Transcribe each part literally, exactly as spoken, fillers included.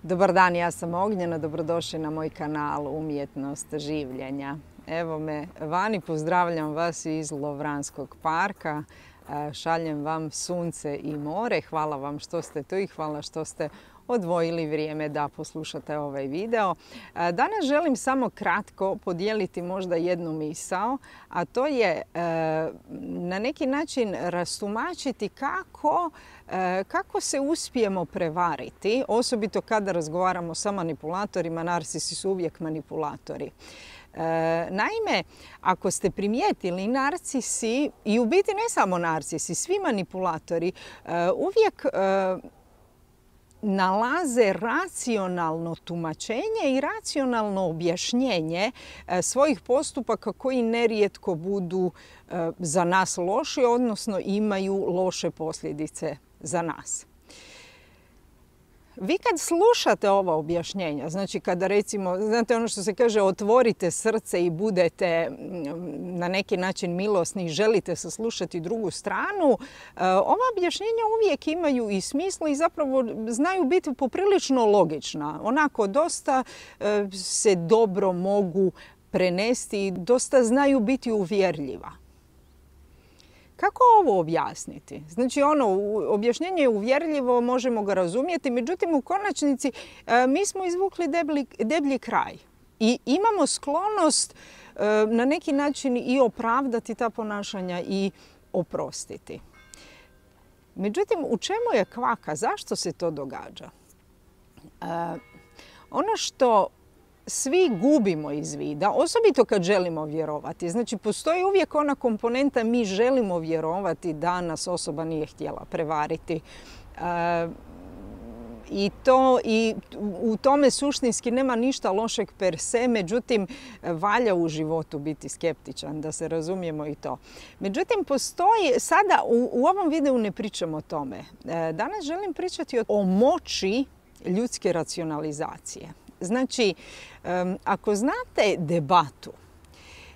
Dobar dan, ja sam Ognjena, dobrodošli na moj kanal Umjetnost življenja. Evo me vani, pozdravljam vas iz Lovranskog parka, šaljem vam sunce i more. Hvala vam što ste tu i hvala što ste odvojili vrijeme da poslušate ovaj video. Danas želim samo kratko podijeliti možda jednu misao, a to je na neki način rastumačiti kako, kako se uspijemo prevariti, osobito kada razgovaramo sa manipulatorima. Narcisi su uvijek manipulatori. Naime, ako ste primijetili, narcisi, i u biti ne samo narcisi, svi manipulatori uvijek nalaze racionalno tumačenje i racionalno objašnjenje svojih postupaka koji nerijetko budu za nas loši, odnosno imaju loše posljedice za nas. Vi kad slušate ova objašnjenja, znači kada recimo, znate ono što se kaže, otvorite srce i budete na neki način milosni i želite saslušati drugu stranu, ova objašnjenja uvijek imaju i smisla i zapravo znaju biti poprilično logična. Onako dosta se dobro mogu prenesti i dosta znaju biti uvjerljiva. Kako ovo objasniti? Znači, ono, objašnjenje je uvjerljivo, možemo ga razumjeti, međutim, u konačnici mi smo izvukli deblji, deblji kraj i imamo sklonost na neki način i opravdati ta ponašanja i oprostiti. Međutim, u čemu je kvaka? Zašto se to događa? Ono što svi gubimo iz vida, osobito kad želimo vjerovati. Znači, postoji uvijek ona komponenta mi želimo vjerovati da nas osoba nije htjela prevariti. E, I, to, I u tome suštinski nema ništa lošeg per se, međutim, valja u životu biti skeptičan, da se razumijemo i to. Međutim, postoji, sada u, u ovom videu ne pričamo o tome. E, danas želim pričati o, o moći ljudske racionalizacije. Znači, ako znate debatu,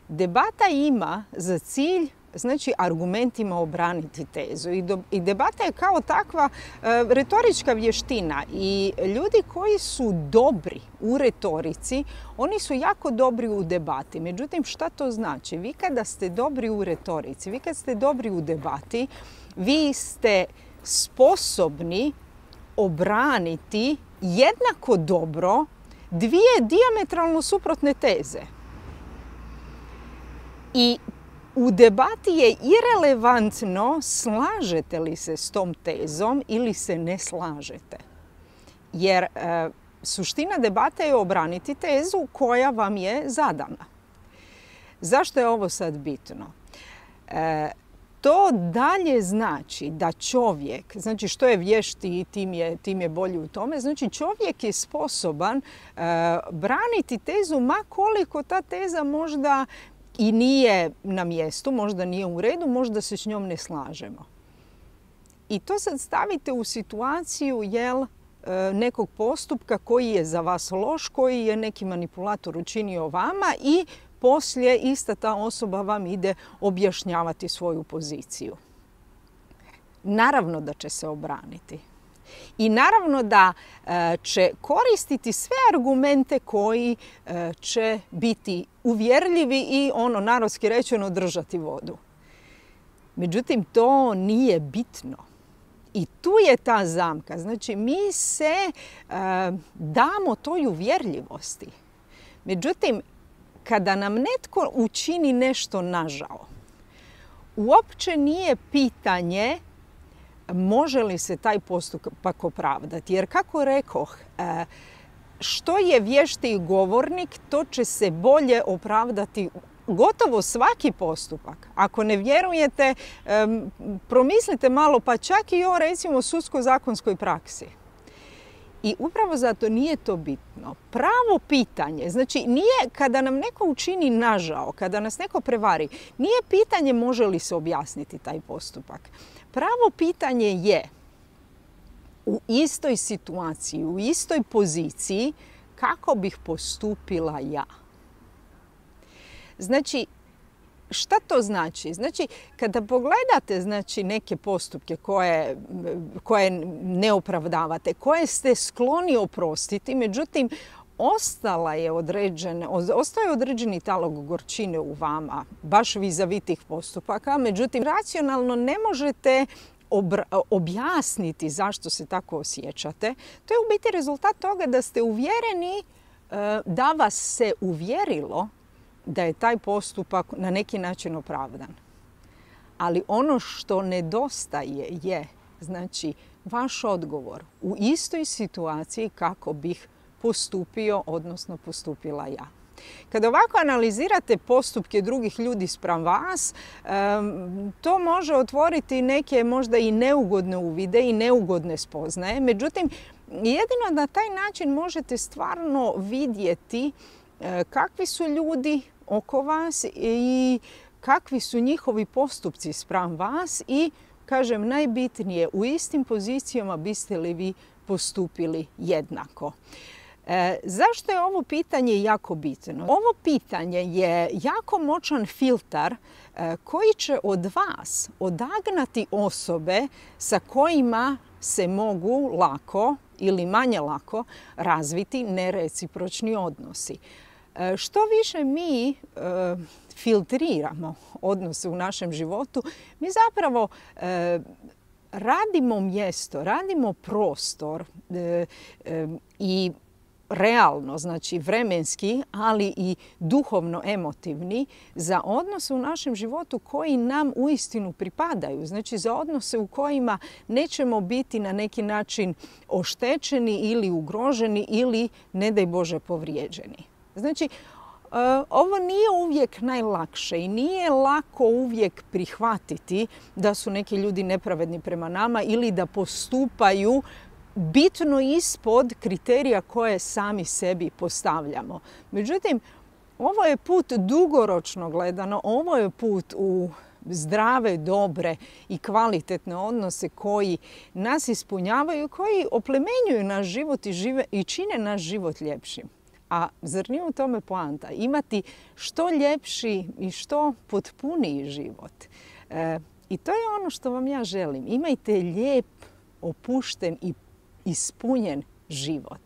debata ima za cilj, znači, argumentima obraniti tezu. I debata je kao takva retorička vještina. I ljudi koji su dobri u retorici, oni su jako dobri u debati. Međutim, šta to znači? Vi kada ste dobri u retorici, vi kad ste dobri u debati, vi ste sposobni obraniti jednako dobro dvije dijametralno suprotne teze. I u debati je irelevantno slažete li se s tom tezom ili se ne slažete. Jer e, suština debate je obraniti tezu koja vam je zadana. Zašto je ovo sad bitno? E, To dalje znači da čovjek, znači što je vješti tim je, tim je bolji u tome, znači čovjek je sposoban e, braniti tezu ma koliko ta teza možda i nije na mjestu, možda nije u redu, možda se s njom ne slažemo. I to sad stavite u situaciju jel, e, nekog postupka koji je za vas loš, koji je neki manipulator učinio vama i poslije ista ta osoba vam ide objašnjavati svoju poziciju. Naravno da će se obraniti. I naravno da e, će koristiti sve argumente koji e, će biti uvjerljivi i ono narodski rečeno držati vodu. Međutim, to nije bitno. I tu je ta zamka. Znači, mi se e, damo toj uvjerljivosti. Međutim, kada nam netko učini nešto nažao, uopće nije pitanje može li se taj postupak opravdati. Jer kako rekoh, što je vještiji govornik, to će se bolje opravdati gotovo svaki postupak. Ako ne vjerujete, promislite malo, pa čak i o recimo sudsko-zakonskoj praksi. I upravo zato nije to bitno. Pravo pitanje, znači nije kada nam neko učini nažao, kada nas neko prevari, nije pitanje može li se objasniti taj postupak. Pravo pitanje je u istoj situaciji, u istoj poziciji kako bih postupila ja. Znači, šta to znači? Znači, kada pogledate znači, neke postupke koje, koje ne opravdavate, koje ste skloni oprostiti, međutim, ostala je određen, ostao je određeni talog gorčine u vama, baš vis-a-vis tih postupaka, međutim, racionalno ne možete objasniti zašto se tako osjećate. To je u biti rezultat toga da ste uvjereni da vas se uvjerilo da je taj postupak na neki način opravdan. Ali ono što nedostaje je, znači, vaš odgovor u istoj situaciji kako bih postupio, odnosno postupila ja. Kada ovako analizirate postupke drugih ljudi spram vas, to može otvoriti neke možda i neugodne uvide i neugodne spoznaje. Međutim, jedino na taj način možete stvarno vidjeti kakvi su ljudi oko vas i kakvi su njihovi postupci spram vas i, kažem, najbitnije, u istim pozicijama biste li vi postupili jednako. E, zašto je ovo pitanje jako bitno? Ovo pitanje je jako moćan filtar e, koji će od vas odagnati osobe sa kojima se mogu lako ili manje lako razviti nerecipročni odnosi. E, što više mi e, filtriramo odnose u našem životu, mi zapravo e, radimo mjesto, radimo prostor e, e, i realno, znači vremenski, ali i duhovno emotivni, za odnose u našem životu koji nam uistinu pripadaju. Znači za odnose u kojima nećemo biti na neki način oštećeni ili ugroženi ili, ne daj Bože, povrijeđeni. Znači, ovo nije uvijek najlakše i nije lako uvijek prihvatiti da su neki ljudi nepravedni prema nama ili da postupaju bitno ispod kriterija koje sami sebi postavljamo. Međutim, ovo je put dugoročno gledano, ovo je put u zdrave, dobre i kvalitetne odnose koji nas ispunjavaju, koji oplemenjuju naš život i, žive, i čine naš život ljepšim. A zar nije u tome poanta? Imati što ljepši i što potpuniji život. E, I to je ono što vam ja želim. Imajte lijep, opušten i ispunjen život.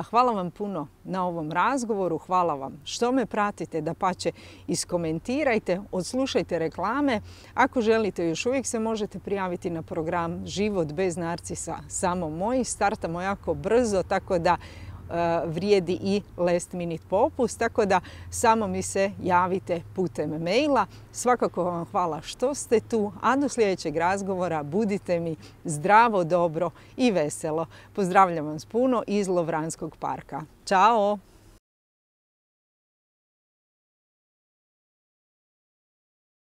Hvala vam puno na ovom razgovoru, hvala vam što me pratite, dapače iskomentirajte, odslušajte reklame. Ako želite, još uvijek se možete prijaviti na program Život bez narcisa, samo moj. Startamo jako brzo, tako da vrijedi i last minute popust, tako da samo mi se javite putem maila. Svakako vam hvala što ste tu, a do sljedećeg razgovora budite mi zdravo, dobro i veselo. Pozdravljam vas puno iz Lovranskog parka. Ćao!